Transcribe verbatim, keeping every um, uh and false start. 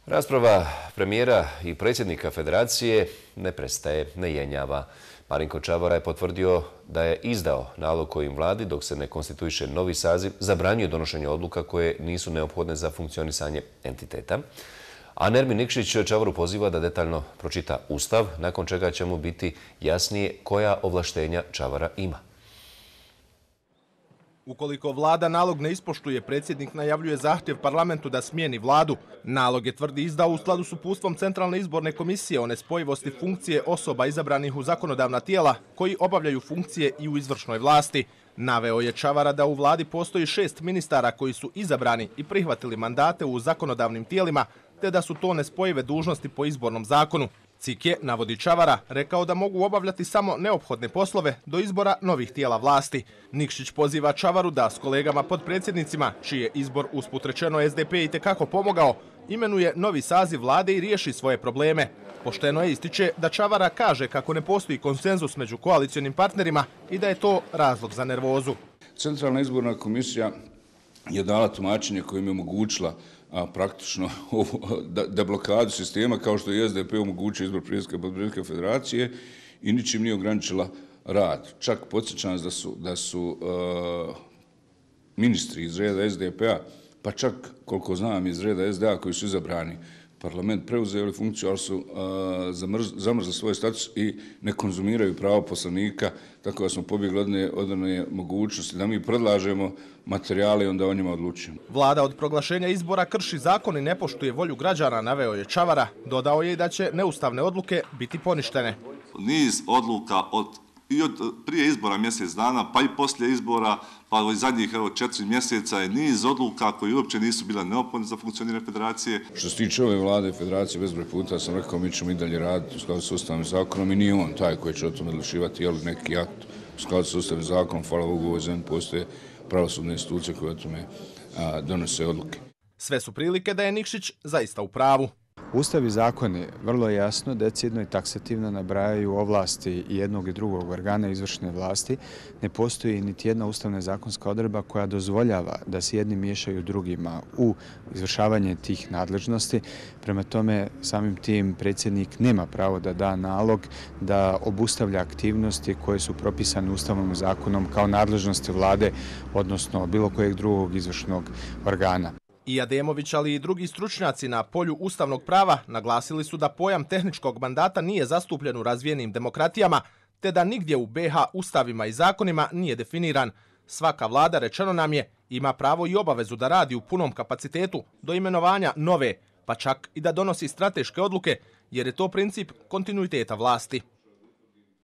Rasprava premijera i predsjednika federacije ne prestaje, ne jenjava. Marinko Čavara je potvrdio da je izdao nalog kojim vladi, dok se ne konstituiše novi saziv, zabranjuje donošenje odluka koje nisu neophodne za funkcionisanje entiteta. A Nermin Nikšić Čavaru poziva da detaljno pročita Ustav, nakon čega će mu biti jasnije koja ovlaštenja Čavara ima. Ukoliko vlada nalog ne ispoštuje, predsjednik najavljuje zahtjev parlamentu da smijeni vladu. Nalog je tvrdi izdao u skladu s uputstvom Centralne izborne komisije o nespojivosti funkcije osoba izabranih u zakonodavna tijela koji obavljaju funkcije i u izvršnoj vlasti. Naveo je Čavara da u vladi postoji šest ministara koji su izabrani i prihvatili mandate u zakonodavnim tijelima, te da su to nespojive dužnosti po izbornom zakonu. C I K je, navodi Čavara, rekao da mogu obavljati samo neophodne poslove do izbora novih tijela vlasti. Nikšić poziva Čavaru da s kolegama podpredsjednicima, čiji je izbor usput rečeno S D P itekako pomogao, imenuje novi saziv vlade i riješi svoje probleme. Pošteno je ističe da Čavara kaže kako ne postoji konsenzus među koalicionim partnerima i da je to razlog za nervozu. Centralna izborna komisija je dala tumačenje kojim je omogućila a, praktično deblokadu sistema, kao što je S D P omogućio izbor predsjednika podpredsjednika federacije i ničim nije ograničila rad. Čak podsjećam da su, da su uh, ministri iz reda S D P-a, pa čak koliko znam iz reda S D A koji su izabrani, parlament preuzeli funkciju, ali su uh, zamrzli svoj status i ne konzumiraju pravo poslanika, tako da smo pobjegli od one mogućnosti da mi predlažemo materijale i onda o njima odlučujemo. Vlada od proglašenja izbora krši zakon i ne poštuje volju građana, naveo je Čavara. Dodao je i da će neustavne odluke biti poništene. Niz odluka od i od prije izbora mjesec dana, pa i poslije izbora, pa i zadnjih evo, četiri mjeseca je niz odluka koji uopće nisu bile neophodne za funkcioniranje federacije. Što se tiče ove vlade i federacije, bezbroj puta sam rekao mi ćemo i dalje raditi u skladu s ustavnim zakonom i nije on taj koji će o tome odlučivati, je li neki akt u skladu s ustavnim zakonom, hvala Bogu, u ovoj zemlji postoje pravosudne institucije koje o tome a, donose odluke. Sve su prilike da je Nikšić zaista u pravu. Ustav i zakoni vrlo jasno, decidno i taksativno nabrajaju ovlasti jednog i drugog organa izvršne vlasti. Ne postoji niti jedna ustavna zakonska odredba koja dozvoljava da se jedni miješaju drugima u izvršavanje tih nadležnosti. Prema tome, samim tim predsjednik nema pravo da da nalog da obustavlja aktivnosti koje su propisane Ustavom i zakonom kao nadležnosti vlade, odnosno bilo kojeg drugog izvršnog organa. I Ademović, ali i drugi stručnjaci na polju ustavnog prava naglasili su da pojam tehničkog mandata nije zastupljen u razvijenim demokratijama, te da nigdje u B iH ustavima i zakonima nije definiran. Svaka vlada, rečeno nam je, ima pravo i obavezu da radi u punom kapacitetu do imenovanja nove, pa čak i da donosi strateške odluke, jer je to princip kontinuiteta vlasti.